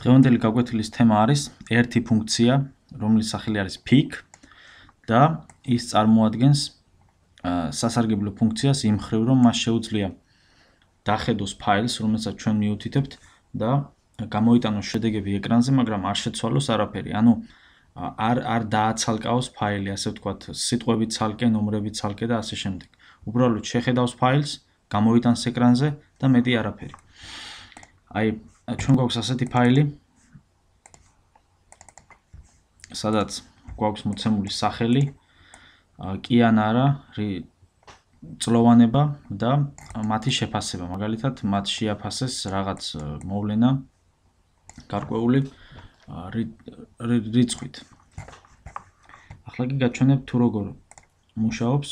დღევანდელი გაკვეთილის თემა არის ერთი ფუნქცია, რომლის სახელი არის pick და ის წარმოადგენს სასარგებლო ფუნქციას იმ მხრივ, რომ მას შეუძლია დახედოს ფაილს, რომელსაც ჩვენ მიუთითებთ და გამოიტანოს შედეგები ეკრანზე, მაგრამ არ შეცვალოს არაფერი. ანუ არ დააცალკაოს ფაილი, ასე ვთქვათ, სიტყვებით ცალკე, ნომრებით ცალკე და ასე შემდეგ. უბრალოდ შეხედავს ფაილს, გამოიტანს ეკრანზე და მეტი არაფერი. აი, ჩვენ გვაქვს ასეთი ფაილი, სადაც გვაქვს მოცემული სახელი, კი ან არა, წლოვანება და მათი შეფასება. მაგალითად, მათ შეაფასეს რაღაც მოვლენა გარკვეული რიცხვით. ახლა კი გაჩვენებ თუ როგორ მუშაობს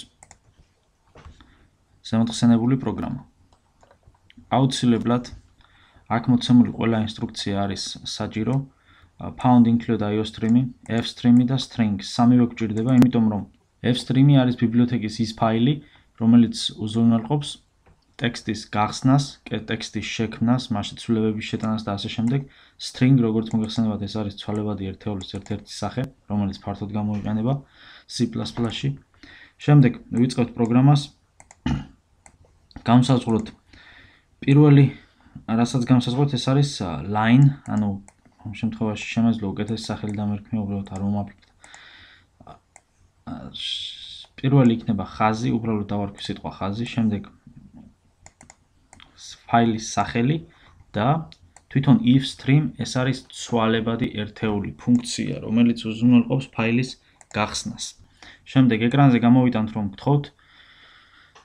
ზემოთხსენებული პროგრამა. აუცილებლად აქ მოცემული ყველა ინსტრუქცია არის საჭირო. Pound include iostream, fstream და string სამივე გვჭირდება, იმიტომ რომ fstream არის ბიბლიოთეკის ის ფაილი, რომელიც უზრუნველყოფს ტექსტის გახსნას, ტექსტის შექმნას, მასში ცვლილებების შეტანას და ასე შემდეგ. String, როგორც მოგეხსენებათ, ეს არის ცვალებადი ერთეულის ერთ-ერთი სახე, რომელიც ფართოდ გამოიყენება C++-ში. შემდეგ ვიწყებთ პროგრამას. გამოსაზღვროთ პირველი, რასაც გამოსაზღვროთ, ეს არის line, ანუ ამ შემთხვევაში შემეძლო უკეთესი სახელი დამერქმია, უბრალოდ არ მომაკლეთ. პირველი იქნება ხაზი, უბრალოდ დავარქვი სიტყვა ხაზი, შემდეგ ფაილის სახელი და თვითონ if stream ეს არის ცვალებადი ერთეული ფუნქცია, რომელიც უზრუნველყოფს ფაილის გახსნას. შემდეგ ეკრანზე გამოვიტანთ, რომ გთხოვთ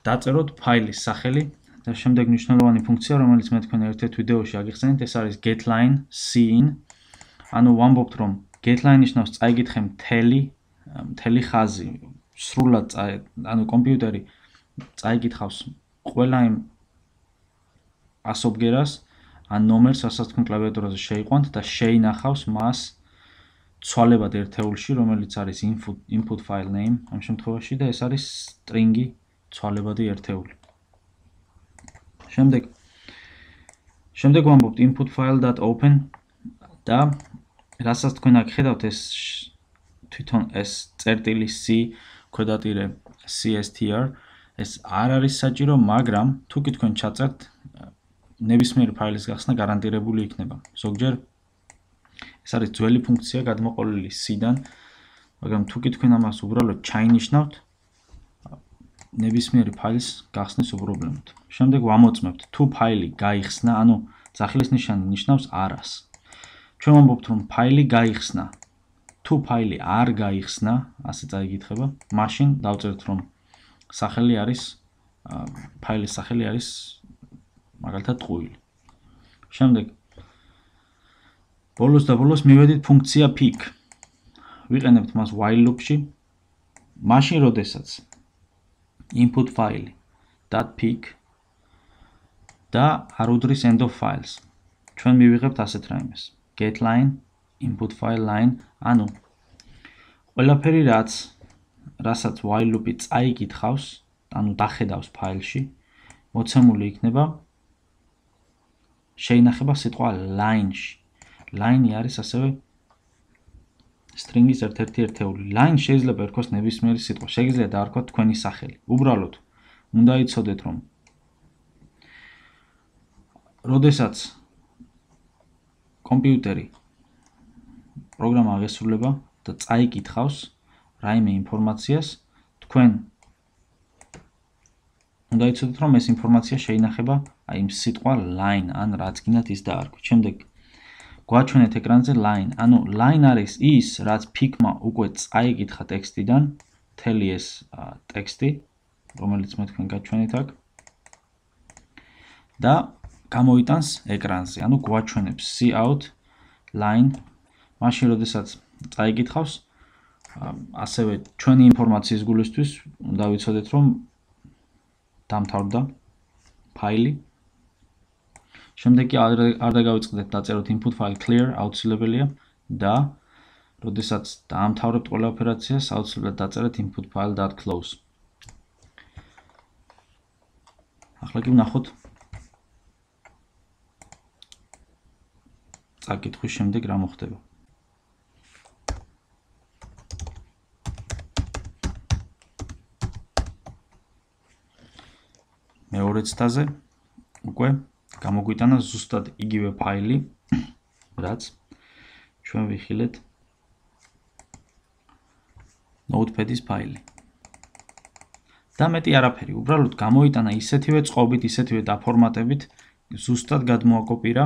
დაწეროთ ფაილის სახელი და შემდეგ მნიშვნელოვანი ფუნქცია, რომელიც მე თქვენ ერთ-ერთ ვიდეოში აგიხსენეთ, ეს არის getLine cin. ანუ ვამბობთ, რომ getLine ნიშნავს წაიგითხე მთელი ხაზი, სრულად ანუ კომპიუტერი წაიგითხავს ყველა იმ ასობგერას ან ნომერს, რასაც თქვენ კლავიატურაზე შეიყვანთ და შეინახავს მას ცვალებად ერთეულში, რომელიც არის input file name ამ შემთხვევაში და ეს არის string-ი ცვალებადი ერთეული. შემდეგ ვამბობთ input file.open და რასაც თქვენ აქ ხედავთ, ეს თვითონ ეს წერტილი C ქვედატირე CSTR ეს არ არის საჭირო, მაგრამ თუ კი თქვენ ჩაწერთ, ნებისმიერი ფაილის გახსნა გარანტირებული იქნება. ზოგჯერ ეს არის ძველი ფუნქცია გადმოყოლილი C-დან, მაგრამ თუ კი თქვენ ამას უბრალოდ ჩაინიშნავთ, ნებისმიერი ფაილის გახსნის უპრობლემოდ. შემდეგ ვამოწმებთ თუ ფაილი გაიხსნა, ანუ ძახილის ნიშანი ნიშნავს არას. ჩვენ ვამბობთ, რომ ფაილი გაიხსნა. თუ ფაილი არ გაიხსნა, ასე წაიგითხება, მაშინ დავწერთ, რომ სახელი არის ფაილის სახელი არის მაგალითად ტყუილი. შემდეგ ბოლოს მივედით ფუნქცია pick. ვიყენებთ მას while loop-ში. მაშინ, როდესაც input file .pick და არ უდრის end of files. ჩვენ მივიღებთ ასეთ რაიმეს. getLine, input file line, ანუ ყველაფერი რასაც while loop-ი წაიგითხავს, ანუ დახედავს ფაილში, მოცემული იქნება შეინახება სიტყვა line-ში. Line-ი არის ასევე string-ის ერთ-ერთი ერთეული. Line შეიძლება ერქვას ნებისმიერი სიტყვა, შეგიძლიათ დაარქვათ თქვენი სახელი. უბრალოდ უნდა იცოდეთ, რომ როდესაც კომპიუტერი პროგრამა აღესრულება და წაიკითხავს რაიმე ინფორმაციას, თქვენ უნდა იცოდეთ, რომ ეს ინფორმაცია შეინახება აი იმ სიტყვა line ან რაც გინდათ ის დაარქვით. შემდეგ გვაჩვენეთ ეკრანზე line, ანუ line არის ის, რაც pick-მა უკვე წაიკითხა ტექსტიდან, მთელი ეს ტექსტი, რომელიც მე თქვენ გაჩვენეთ აქ და გამოიტანს ეკრანზე, ანუ გვაჩვენებს cout line, მაშინ როდესაც წაიგითხავს, ასევე ჩვენი ინფორმაციის გულისთვის უნდა ვიცოდეთ, რომ დამთავრდა ფაილი. შემდეგ კი არ დაგავიწყდეთ დაწეროთ input file clear, აუცილებელია და როდესაც დაამთავრებთ ყველა ოპერაციას, აუცილებლად დაწერეთ input file.close. ახლა კი ვნახოთ წაკითხვის შემდეგ რა მოხდება. მეორე ცდაზე უკვე გამოგვიტანა ზუსტად იგივე ფაილი, რაც ჩვენ ვიხილეთ Notepad-ის ფაილი. და მეტი არაფერი, უბრალოდ გამოიტანა ისეთივე წყობით, ისეთივე დაფორმატებით, ზუსტად გადმოაკოპირა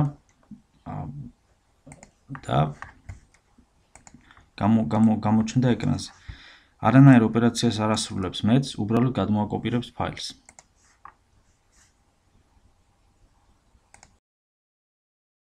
და გამოჩნდა ეკრანზე. არანაირ ოპერაციას არ ასრულებს მეც, უბრალოდ გადმოაკოპირებს ფაილს.